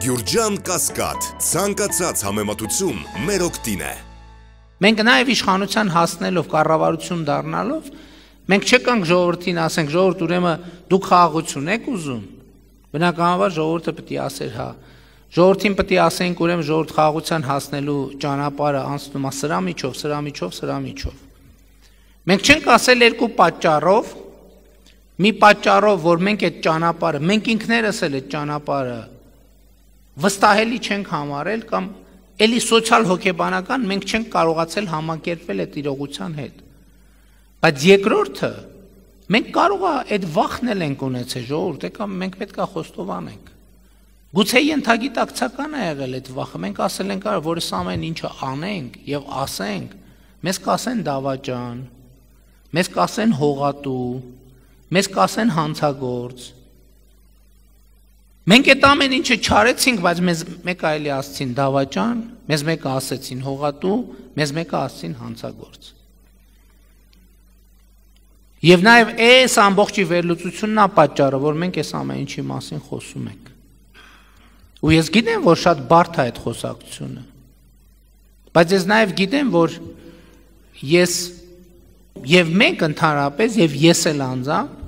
Գյուրջան Կասկադ, ցանկացած համեմատություն մեր օգտին է։ Մենք նաև իշխանության հասնելով, կառավարություն դառնալով, մենք չեկանք ժողովրդին ասենք, ժողովուրդ ուրեմն դուք խաղաղություն եք ուզում։ Բնականաբար ժողովուրդը պետք է ասեր հա։ Ժողովրդին պետք է ասենք ուրեմն ժողովուրդ խաղաղության հասնելու ճանապարհը անցնում է սրա միջով։ Մենք չենք ասել երկու պատճառով, մի պատճառով, որ մենք այդ ճանապարհը, մենք ինքներս էլ այդ ճանապարհը վստահելի չենք համարել կամ էլի սոցիալ հոգեբանական մենք չենք կարողացել համակերպվել այդ իրողության հետ։ Բայց երկրորդը մենք կարող է այդ վախն էլ ենք ունեցել ժողովուրդ, կամ մենք պետք է խոստովանենք։ Գուցե ենթագիտակցական է եղել այդ վախը, մենք ասել ենք, որ այս ամեն ինչը անենք եւ ասենք, մեզ կասեն դավաճան, մեզ կասեն հողատու, մեզ կասեն հանցագործ։ Մենք այդ ամեն ինչը չարեցինք, բայց մեզ մեկը այլի ասեցին դավաճան, մեզ մեկը ասեցին հողատու, մեզ մեկը ասեցին հանցագործ։ Եվ նաև այս ամբողջի վերլուծությունն է պատճառը, որ մենք այս ամեն ինչի մասին խոսում ենք։ Ու ես գիտեմ, որ շատ բարդ է այդ խոսակցությունը։ Բայց ես նաև գիտեմ, որ ես եւ մենք ընդհանրապես եւ ես էլ անձամբ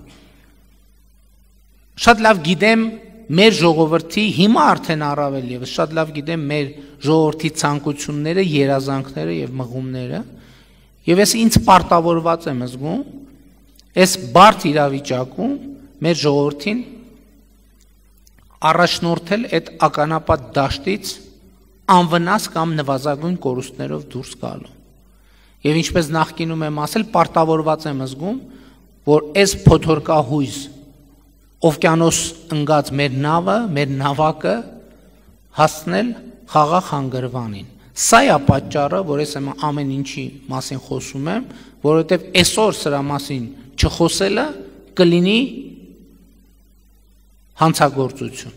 շատ լավ գիտեմ մեր ժողովրդի հիմա արդեն առավել եւս շատ լավ գիտեմ մեր ժողովրդի ցանկությունները, երազանքները եւ մղումները եւ ես ինձ պարտավորված եմ զգում այս բարդ իրավիճակում մեր ժողովրդին առաջնորդել այդ ականապատ դաշտից անվնաս կամ նվազագույն կորուստներով դուրս գալու։ Եվ ինչպես նախկինում եմ ասել, պարտավորված եմ զգում, որ այս փոթորկահույս օվկիանոս ընկած մեր նավը, մեր նավակը հասնել խաղաղ հանգրվանին։ Սա է պատճառը, որ ես ամեն ինչի մասին խոսում եմ, որովհետև այսօր սրա մասին չխոսելը կլինի հանցագործություն։